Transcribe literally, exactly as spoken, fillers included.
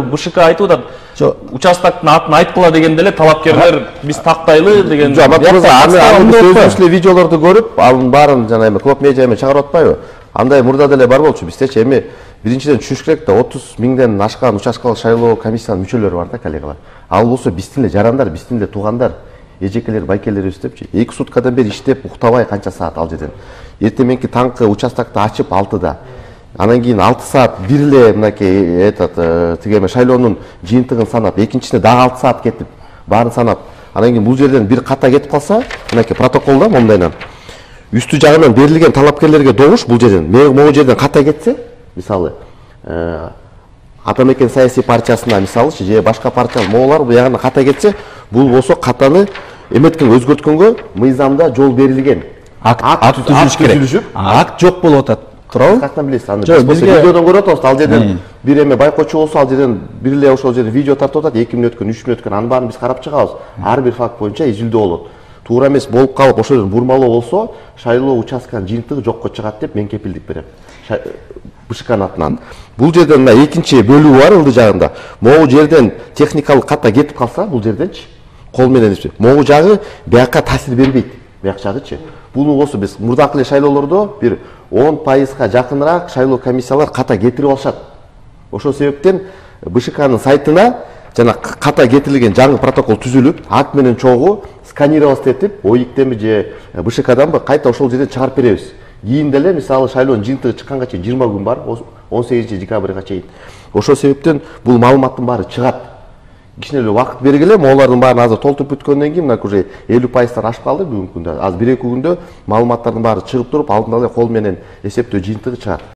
БШК айтып атат. Участоктун атын айткыла дегенде эле талапкерлер биз тактайлы деген. Жок, Батыр аны сөзлүү видеолорду көрүп, анын баарын жана эми Клоп медиа эми чыгарып атпайбы? Андай мурда деле бар болчу. Биздечи эми биринчиден түшүнүш керек да, отуз миңден ашкан участкалык шайлоо комиссиянын мүчөлөрү бар да, коллегалар. Ал болсо биздин эле жарандар, биздин эле туугандар, эжекелер, байкелерибиз депчи. эки суткадан бери иштеп, уктабай канча саат ал жерден. Эртең мененки таңкы участокду ачып алтыда. Анан кийин алты саат бир эле мынакей этот тиге шайлоонун жыйынтыгын санап, экинчисине дагы алты саат кетип, баарын санап, анан кийин бул жерден бир ката кетип калса, мынакей протоколдо мондайнан үстү жагынан берилген талапкерлерге добуш бул жерден, могу жерден ката кетсе, мисалы, Атамекен саясий партиясына мисалычы же башка партия моголар бул ягына ката кетсе, бул болсо катаны эметкен өзгөрткөнгө мыйзамда жол берилген. Акт түзүлүш керек. Акт жок болуп атат. Туурабы? Каяктан билесиз? Аны биз видеодон көрүп атабыз. Ал жерден бир эме байкоочу болсо, ал жерден бир эле ошол жерде видео тартып атат, эки мүнөт өткөн, үч мүнөт өткөн. Анын баарын биз карап чыгабыз. Ар бир факт боюнча изилдөө болот. Туура эмес болуп калып, ошол жерден бурмалоо болсо, шайлоо участканын жыйынтыгы жокко чыгат деп мен кепилдик берем. БШКнын атынан. Бул жерден мына экинчи бөлүгү бар ылды жагында. Могу жерден техникалык ката кетип калса, бул жерденчи кол менен иштеп, могу жагы бияка таасир бербейт. Бияк жагычы. Буну болсо биз мурдакы эле шайлоолордо бир он пайызга жакыныраак шайлоо комиссиялар ката кетирип алышат. Ошол себептен БШКнын сайтына жана ката кетирилген жаңы протокол түзүлүп, акт менен чогуу сканировать этип, ОИКтенби же БШКданбы кайта ошол жерден чыгарып беребиз. Кийин деле мисалы шайлоонун жыйынтыгы чыкканга чейин жыйырма күн бар, он сегизинчи декабрга чейин. Ошол себептен бул маалыматтын баары чыгат. Кичине эле убакыт бергиле, моулардын баарын азыр толтуруп бүткөндөн кийин мына уже элүү пайыздан ашып калды бүгүнкү күндө. Азыр бир эки күндө маалыматтардын баары чыгып туруп, алдын ала кол менен эсептөө жыйынтыгы чыгат.